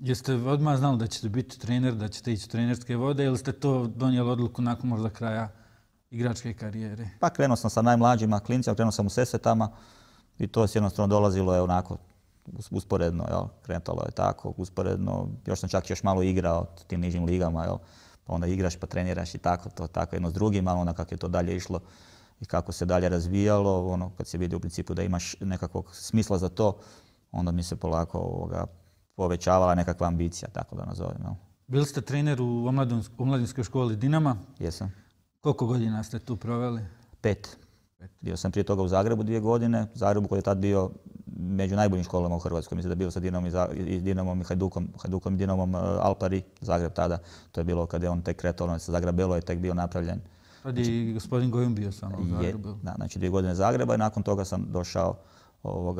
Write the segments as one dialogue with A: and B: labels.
A: Jeste odmah znali da ćete biti trener, da ćete ići u trenerske vode ili ste to donijeli odluku nakon možda kraja igračke karijere?
B: Pa krenuo sam sa najmlađima klincima, krenuo sam u Sesvetama i to se jednostavno dolazilo je onako usporedno, jel? Kretalo je tako, usporedno. Još sam čak još malo igrao u tim nižim ligama, jel? Pa onda igraš pa treniraš i tako, to tako jedno s drugim, ali onda kako je to dalje išlo i kako se dalje razvijalo, ono kad se vidi u principu da imaš nekakvog smisla za to, onda mi se polako povećavala nekakva ambicija, tako da nazovem. Jel?
A: Bili ste trener u omladinskoj školi Dinama?
B: Jesam.
A: Koliko godina ste tu proveli?
B: 5. Bio sam prije toga u Zagrebu 2 godine. Zagrebu koji je tad bio među najboljim školama u Hrvatskoj. Mislim da je bilo sa Dinamom i Hajdukom i Dinamom Alpari, Zagreb tada. To je bilo kad je on tek kretao, sa Zagrabelo je tek bio napravljen.
A: Tad je i gospodin Gojum bio samo u Zagrebu.
B: Da, znači 2 godine Zagreba i nakon toga sam došao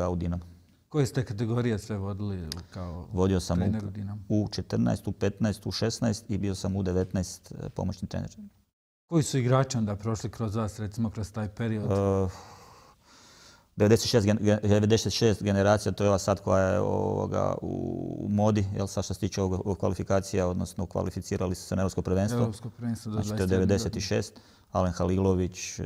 B: u Dinamo.
A: Koje ste kategorije sve vodili kao trener u Dinamu?
B: U 14, u 15, u 16 i bio sam u 19 pomoćni trener.
A: Koji su igrači onda prošli kroz vas, recimo kroz taj period?
B: 96 generacija, to je ova sad koja je u modi, jel sad što se tiče kvalifikacija, odnosno kvalificirali su se na Europsko prvenstvo.
A: Europsko prvenstvo do 21.
B: Znači to je 96, Alen Halilović,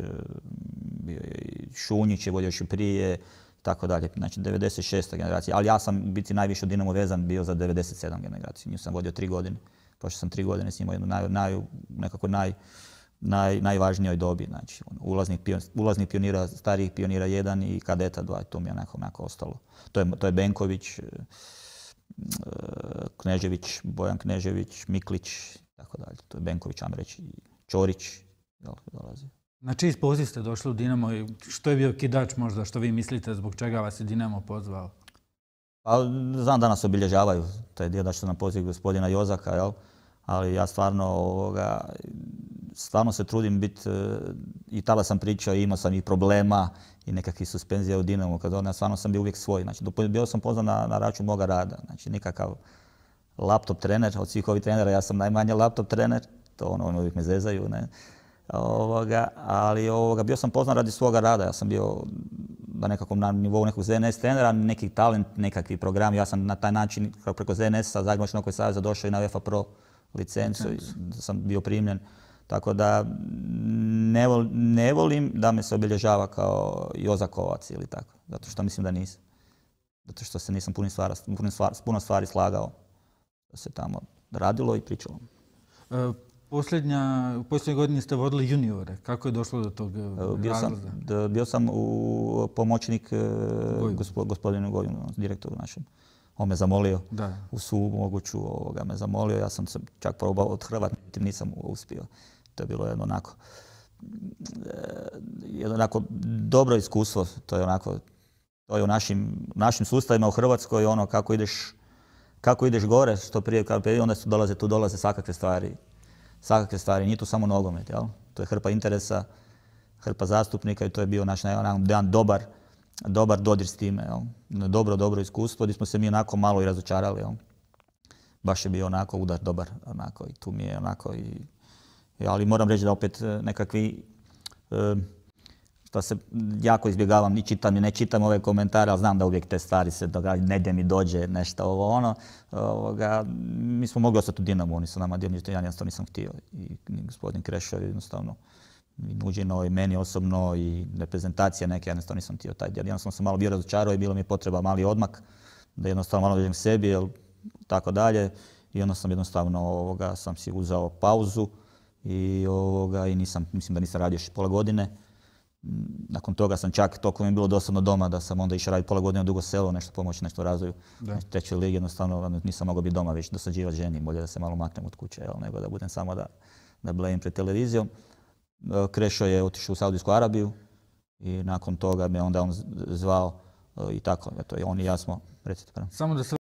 B: Šunjić je vodio još i prije, tako dalje. Znači 96. generacija, ali ja sam biti najviše u Dinamu vezan bio za 97 generaciju. Nju sam vodio 3 godine, pošto sam 3 godine s njima nekako najvažnijoj dobi. Znači, ulaznih pionira, starijih pionira 1 i kadeta 2, to mi je onako ostalo. To je Benković, Knežević, Bojan Knežević, Miklić, tako dalje. To je Benković, ajmo reći, Ćorić, dolazi.
A: Na čiji poziv ste došli u Dinamo i što je bio kidač možda, što vi mislite, zbog čega vas je Dinamo pozvao?
B: Pa, znam da nas obilježavaju, to je dio da što na poziv gospodina Jozaka, jel? Ali ja stvarno se trudim biti, i tada sam pričao, imao sam i problema i nekakvih suspenzija u Dinamu, stvarno sam bio uvijek svoj. Znači, bio sam pozvan na račun moga rada, znači nikakav laptop trener, od svih ovih trenera ja sam najmanje laptop trener, to oni uvijek me zezaju, ne. Ali bio sam pozvan radi svoga rada, ja sam bio na nivou nekog ZNS trenera, neki talent, nekakvi program, ja sam na taj način preko ZNS-a, Zagrebačkog nogometnog saveza došao i na UEFA Pro licencu, sam bio primljen. Tako da ne volim da me se obilježava kao Jozakovac ili tako, zato što mislim da nisam. Zato što se nisam puno stvari slagao, da se tamo radilo i pričalo.
A: U posljednjoj godini ste vodili juniore. Kako je došlo do tog razlaza?
B: Bio sam pomoćnik gospodinu Goju, direktoru našem. On me zamolio, u svu moguću me zamolio. Ja sam se čak probao odhrvat, nisam uspio. To je bilo jedno onako dobro iskustvo. To je u našim sustavima u Hrvatskoj, ono kako ideš gore, što prije, onda tu dolaze svakakve stvari. Svakakve stvari, nije to samo nogomet, jel? To je hrpa interesa, hrpa zastupnika i to je bio naš jedan dobar dodir s time, jel? Dobro iskustvo, gdje smo se mi onako malo i razočarali, jel? Baš je bio onako udar dobar, onako i tu mi je onako ali moram reći da opet nekakvi, što se jako izbjegavam, ne čitam ove komentare, ali znam da uvijek te stvari se događaju, negdje mi dođe nešto mi smo mogli ostati u Dinamu, oni su nama dio, ja jednostavno nisam htio. I gospodin Krešo jednostavno i nuđeno i meni osobno i reprezentacija neke, ja jednostavno nisam htio taj dio. Jednostavno sam malo bio razočarao i bilo mi je potreba mali odmak, da jednostavno malo dođem sebi, tako dalje. I onda sam jednostavno sam si uzeo pauzu i mislim da nisam radio još pola godine. Nakon toga sam čak, toliko mi je bilo dosadno doma, da sam onda išao raditi pola godine u Dugo Selo, nešto pomoći, nešto u razvoju. U trećoj ligi jednostavno nisam mogao biti doma, već dosađivati ženi, bolje da se malo maknem od kuće, nego da budem samo da blejim pred televizijom. Krešo je otišao u Saudijsku Arabiju i nakon toga me onda on zvao i tako, eto, on i ja smo, recite prema.